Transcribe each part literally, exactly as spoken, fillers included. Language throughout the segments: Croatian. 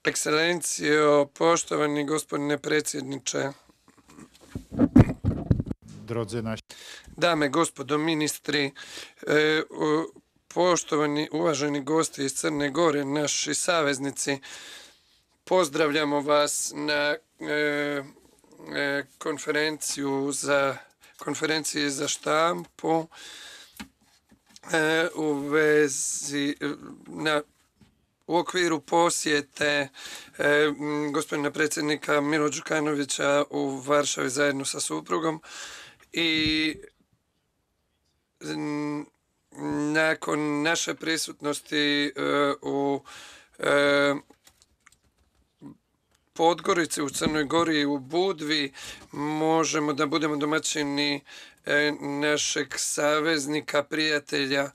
Ekscelencijo, poštovani gospodine predsjedniče, drodzy nasi dame i gospodo ministri, e, u- poštovani uvaženi gosti iz Crne Gore, naši saveznici, pozdravljamo vas na e, e, konferenciju za konferenciji za štampu e, u vezi na u okviru posjete e, m, gospodina predsjednika Milo Đukanovića u Varšavi zajedno sa suprugom i m, nakon naše prisutnosti e, u e, Podgorici, u Crnoj Gori i u Budvi možemo da budemo domaćini e, našeg saveznika, prijatelja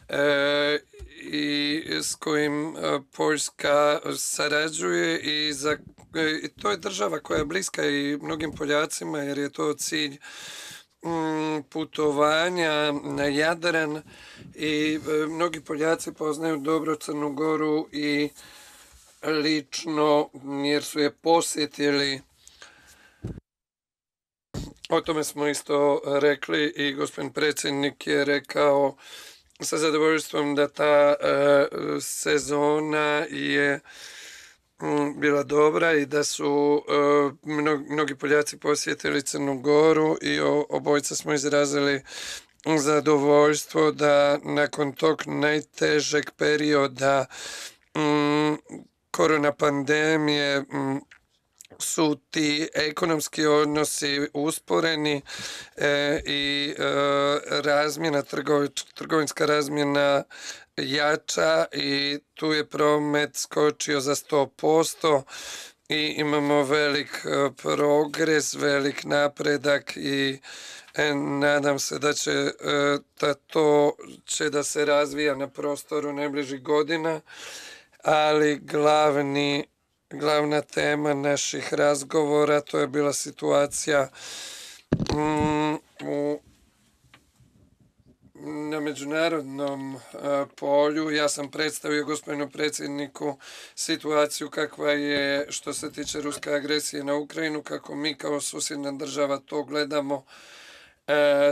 e, i s kojim e, Poljska sarađuje i, za, e, i to je država koja je bliska i mnogim Poljacima jer je to cilj mm, putovanja na Jadran i e, mnogi Poljaci poznaju dobro Crnu Goru i lično jer su je posjetili. O tome smo isto rekli i gospodin predsjednik je rekao sa zadovoljstvom da ta e, sezona je mm, bila dobra i da su e, mnogi, mnogi Poljaci posjetili Crnu Goru i o, obojica smo izrazili zadovoljstvo da nakon tog najtežeg perioda mm, korona pandemije m, su ti ekonomski odnosi usporeni e, i e, razmjena, trgovič, trgovinska razmjena jača i tu je promet skočio za sto posto i imamo velik e, progres, velik napredak i e, nadam se da će e, da to će da se razvija na prostoru najbližih godina, ali glavni, glavna tema naših razgovora to je bila situacija mm, u, na međunarodnom uh, polju. Ja sam predstavio gospodinu predsjedniku situaciju kakva je što se tiče ruske agresije na Ukrajinu, kako mi kao susjedna država to gledamo,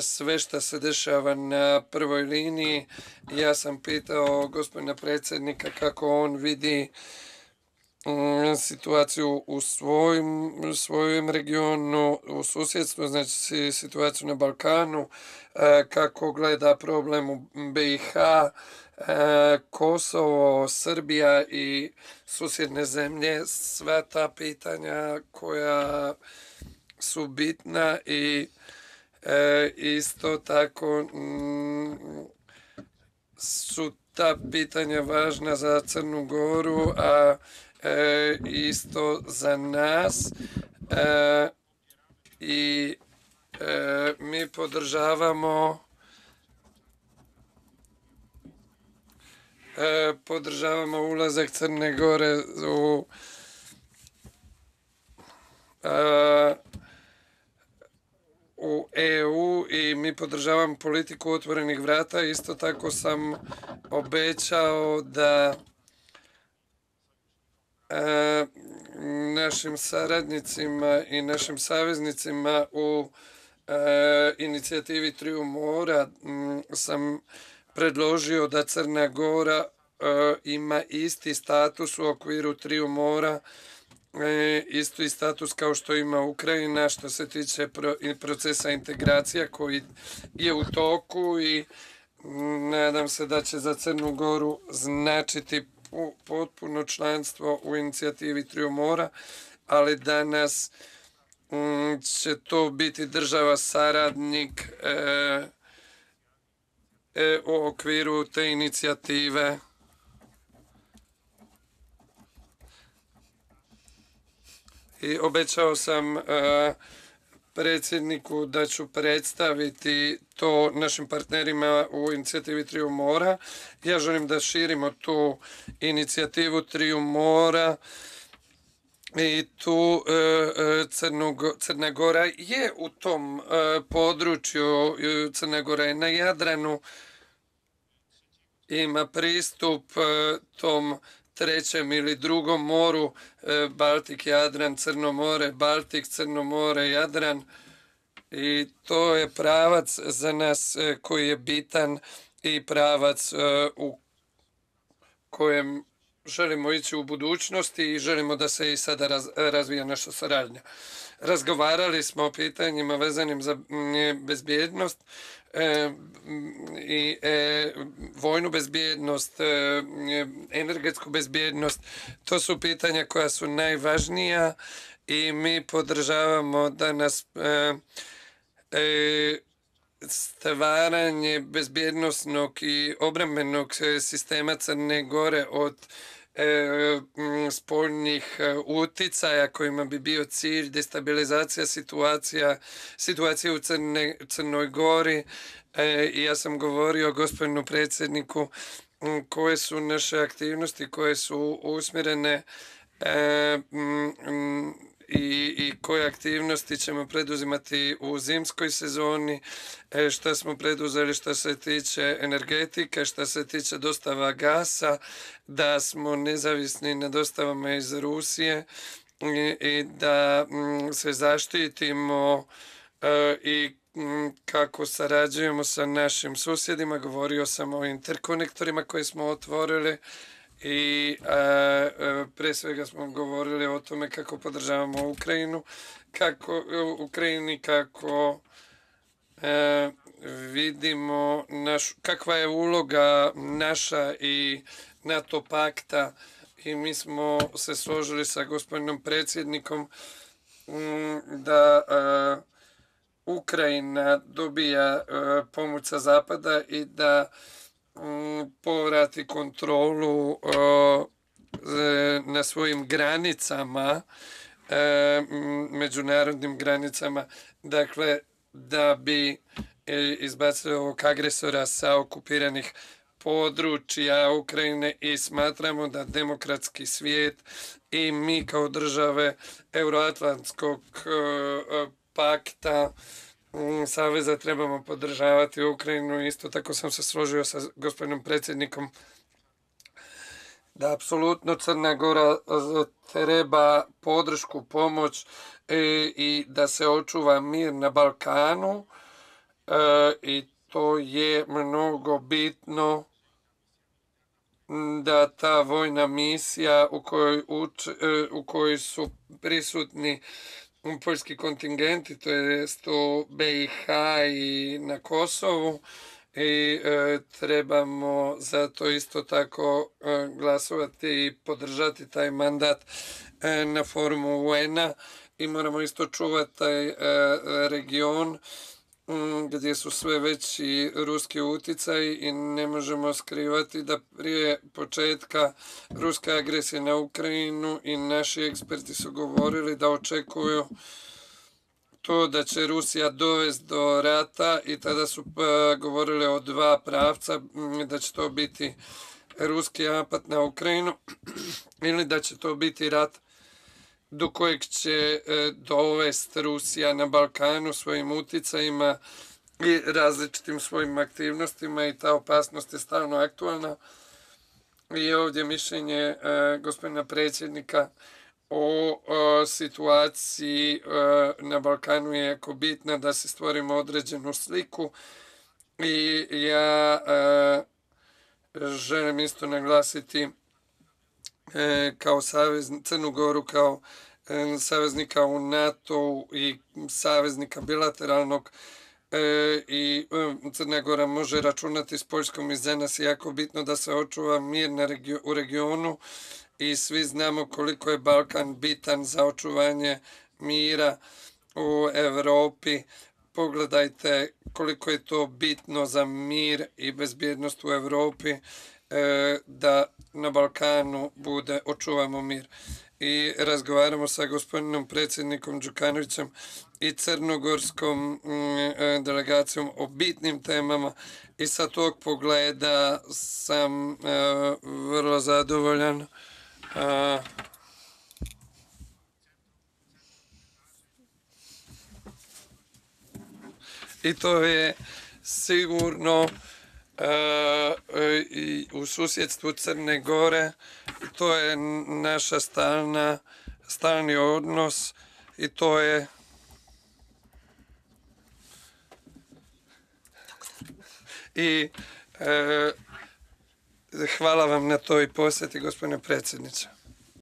sve što se dešava na prvoj liniji. Ja sam pitao gospodina predsjednika kako on vidi mm, situaciju u svojim, svojem regionu, u susjedstvu, znači situaciju na Balkanu, kako gleda problem u B i H, Kosovo, Srbija i susjedne zemlje, sva ta pitanja koja su bitna i E, isto tako m, su ta pitanja važna za Crnu Goru, a e, isto za nas e, i e, mi podržavamo e, podržavamo ulazak Crne Gore u a, u E U i mi podržavamo politiku otvorenih vrata. Isto tako sam obećao da e, našim saradnicima i našim saveznicima u e, inicijativi Triju mora m, sam predložio da Crna Gora e, ima isti status u okviru Triju mora, E, isto i status kao što ima Ukrajina što se tiče pro, procesa integracija koji je u toku i nadam se da će za Crnu Goru značiti potpuno članstvo u inicijativi Triju mora, ali danas m, će to biti država saradnik e, e, u okviru te inicijative. I obećao sam uh, predsjedniku da ću predstaviti to našim partnerima u inicijativi Triju mora. Ja želim da širimo tu inicijativu Triju mora i tu uh, Crnog, Crna Gora je u tom uh, području, Crna Gora je na Jadranu, ima pristup uh, tom trećem ili drugom moru, Baltik, Jadran, Crno more, Baltik, Crno more, Jadran. I to je pravac za nas koji je bitan i pravac u kojem želimo ići u budućnosti i želimo da se i sada razvija naša saradnja. Razgovarali smo o pitanjima vezanim za bezbjednost i vojnu bezbjednost, energetsku bezbjednost. To su pitanja koja su najvažnija i mi podržavamo da nas stvaranje bezbjednosnog i obrambenog sistema Crne Gore od spoljnih uticaja kojima bi bio cilj destabilizacija situacija, situacije u Crne, Crnoj Gori. I ja sam govorio gospodinu predsjedniku koje su naše aktivnosti koje su usmjerene I, i koje aktivnosti ćemo preduzimati u zimskoj sezoni, šta smo preduzeli što se tiče energetike, što se tiče dostava gasa, da smo nezavisni na dostavama iz Rusije i, i da m, se zaštitimo e, i m, kako sarađujemo sa našim susjedima. Govorio sam o interkonektorima koje smo otvorili. I a, a, pre svega smo govorili o tome kako podržavamo Ukrajinu, kako u Ukrajini, kako a, vidimo naš, kakva je uloga naša i NATO pakta i mi smo se složili sa gospodinom predsjednikom m, da a, Ukrajina dobija a, pomoć sa zapada i da povrati kontrolu na svojim granicama, međunarodnim granicama, dakle da bi izbacili ovog agresora sa okupiranih područja Ukrajine i smatramo da demokratski svijet i mi kao države Euroatlantskog pakta saveza trebamo podržavati Ukrajinu. Isto tako sam se složio sa gospodinom predsjednikom da apsolutno Crna Gora treba podršku, pomoć i da se očuva mir na Balkanu i to je mnogo bitno da ta vojna misija u kojoj, uč, u kojoj su prisutni poljski kontingenti, to je u B i H i na Kosovu i e, trebamo zato isto tako e, glasovati i podržati taj mandat e, na forumu U N-a i moramo isto čuvati taj e, region m, gdje su sve veći ruski utjecaj i ne možemo skrivati da prije početka ruske agresije na Ukrajinu i naši eksperti su govorili da očekuju to da će Rusija dovesti do rata i tada su uh, govorili o dva pravca, da će to biti ruski napad na Ukrajinu ili da će to biti rat do kojeg će uh, dovesti Rusija na Balkanu svojim utjecajima i različitim svojim aktivnostima i ta opasnost je stalno aktualna. I ovdje mišljenje uh, gospodina predsjednika o, o situaciji o, na Balkanu je jako bitna da se stvorimo određenu sliku i ja o, želim isto naglasiti e, kao savez, Crnu Goru kao e, saveznika u NATO i saveznika bilateralnog e, i e, Crna Gora može računati s Poljskom i za nas je jako bitno da se očuva mir na regio, u regionu i svi znamo koliko je Balkan bitan za očuvanje mira u Europi. Pogledajte koliko je to bitno za mir i bezbjednost u Europi da na Balkanu bude očuvamo mir. I razgovaramo sa gospodinom predsjednikom Đukanovićem i crnogorskom delegacijom o bitnim temama i sa tog pogleda sam vrlo zadovoljan. Uh, I to je sigurno i u susjedstvu Crne Gore. To je naša stalna, stalni odnos i to je i e, hvala vam na toj posjeti, gospodine predsjedniče.